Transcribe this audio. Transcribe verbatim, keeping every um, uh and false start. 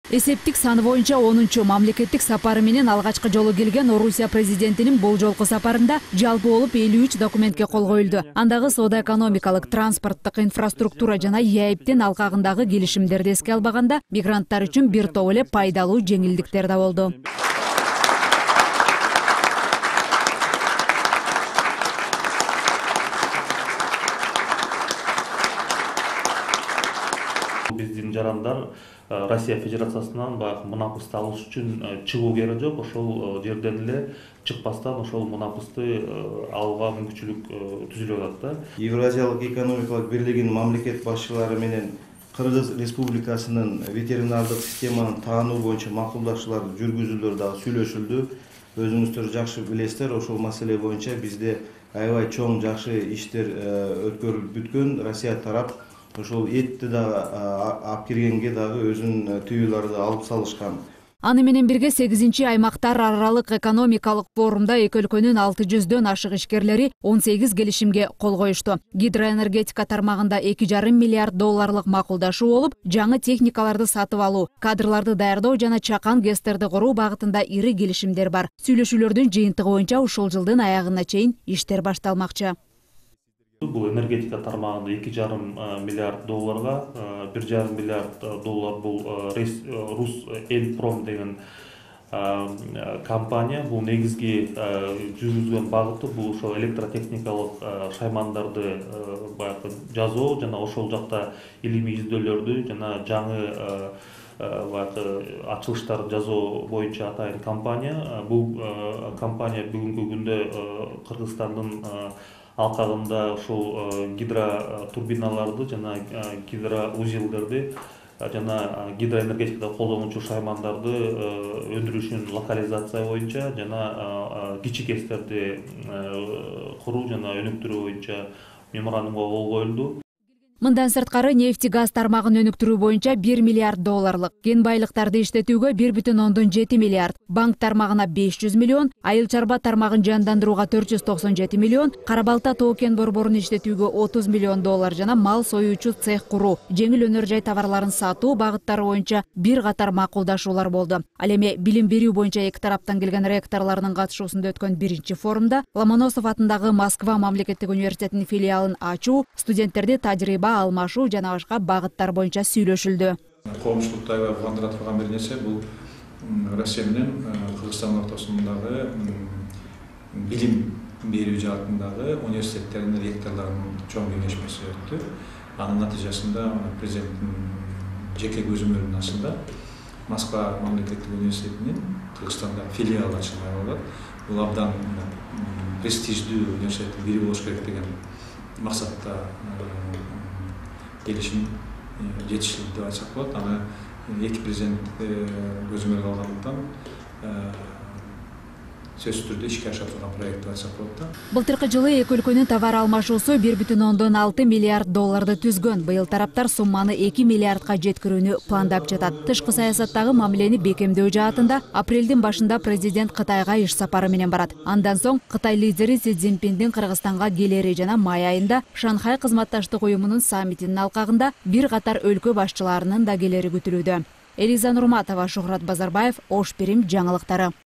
Эсептик саны боюнча онунчу мамлекеттик сапары менен алгачкы жолу келген Орусия президентинин бул жолку сапарында жалпы болуп элүү үч документке кол коюлду. Андагы соода-экономикалык, транспорттук инфраструктура жана ЕАЭБтин алкагындагы келишимдерди эске албаганда мигранттар үчүн бир топ эле пайдалуу жеңилдиктер да болду. Биздин жарандар Россия Федерациясынан баягы мунапысты алыш үчүн чыгуу керек жок. Ошол жерден эле чыкпастан ошол мунапысты алууга мүмкүнчүлүк түзүлүп атат да. Евразиялык экономикалык бирлигинин мамлекет башчылары менен Кыргыз Республикасынын ветеринардык системаны таануу боюнча макулдашууларды жүргүзүүлөр дагы сүйлөшүлдү. Өзүңүздөр жакшы билесиздер, ошол маселе боюнча бизде аябай чоң жакшы иштер өткөрүлүп бүткөн. Россия тарап ошол этти дагы алып киргенге дагы өзүнүн тыюуларды алып салышкан. Аны менен бирге сегизинчи аймактар аралык экономикалык форумда эки өлкөнүн алты жүздөн ашык ишкерлери он сегиз келишимге кол коюшту. Гидроэнергетика тармагында эки жарым миллиард долларлык макулдашуу болуп, жаңы техникаларды сатып алуу, кадрларды даярдоо жана чакан ГЭСтерди куруу багытында ири келишимдер бар. Сүйлөшүүлөрдүн жыйынтыгы боюнча ушул жылдын аягына чейин иштер башталмакчы. Бул энергетика тармагында эки жарым миллиард долларга, бир жарым миллиард доллар бул Русэлпром деген компания. Бул негизги жүргүзгөн багыты бул ошол электротехникалык шаймандарды баягы жасоо жана ошол жакта илимий издөөлөрдү жана жаңы баягы ачылыштарды жасоо боюнча атайын компания. Бул компания бүгүнкү күндө Кыргызстандын алкагында ошол гидротурбиналарды жана гидроузелдерди жана гидроэнергетикада колдонуучу шаймандарды өндүрүшүн локализация боюнча жана кичи ГЭСтерди куруу жана өнүктүрүү боюнча меморандумга кол коюлду. Мындан сырткары нефти газ тармагын өнүктүрүү боюнча бир миллиард долларлык, кен байлыктарды иштетүүгө бир бүтүн ондон жети миллиард, банк тармагына беш жүз миллион, айыл чарба тармагын жандандырууга төрт жүз токсон жети миллион, Кара Балта тоо кен борборун иштетүүгө отуз миллион доллар жана мал союучу цех куруу, жеңил өнөр жай товарларын сатуу багыттары боюнча бир катар макулдашуулар болду. Ал эми билим берүү боюнча эки тараптан келген ректорлордун катышуусунда өткөн биринчи форумда Ломоносов атындагы Москва мамлекеттик университетинин филиалын ачуу, студенттерди тажрыйба алмашуу жана башка багыттар боюнча сүйлөшүлдү. Коомчулукта аябай кубандыра турган бир нерсе бул Россия менен Кыргызстан ортосундагы билим берүү жаатындагы университеттердин ректорлорунун чоң кеңешмеси өттү. Анын натыйжасында президенттин жеке көзөмөлүнүн астында Москва мамлекеттик университетинин Кыргызстанда филиалы ачылмак болот. Бул абдан престиждүү университеттин бири болуш керек деген максатта келишим жетишилди деп айтсак болот. Аны эки президент көзөмөлгө алгандыктан сөзсүз түрдө ишке аша турган проект деп айтсак болот да. Былтыркы жылы эки өлкөнүн товар алмашуусу бир бүтүн ондон алты миллиард долларды түзгөн. Быйыл тараптар сумманы эки миллиардка жеткирүүнү пландап жатат. Тышкы саясаттагы мамилени бекемдөө жаатында апрелдин башында президент Кытайга иш сапары менен барат. Андан соң Кытай лидери Си Цзиньпиндин Кыргызстанга келери жана май айында Шанхай кызматташтык уюмунун саммитинин алкагында бир катар өлкө башчыларынын да келери күтүлүүдө. Элиза Нурматова, Шухрат Базарбаев, Ош Бирим жаңылыктары.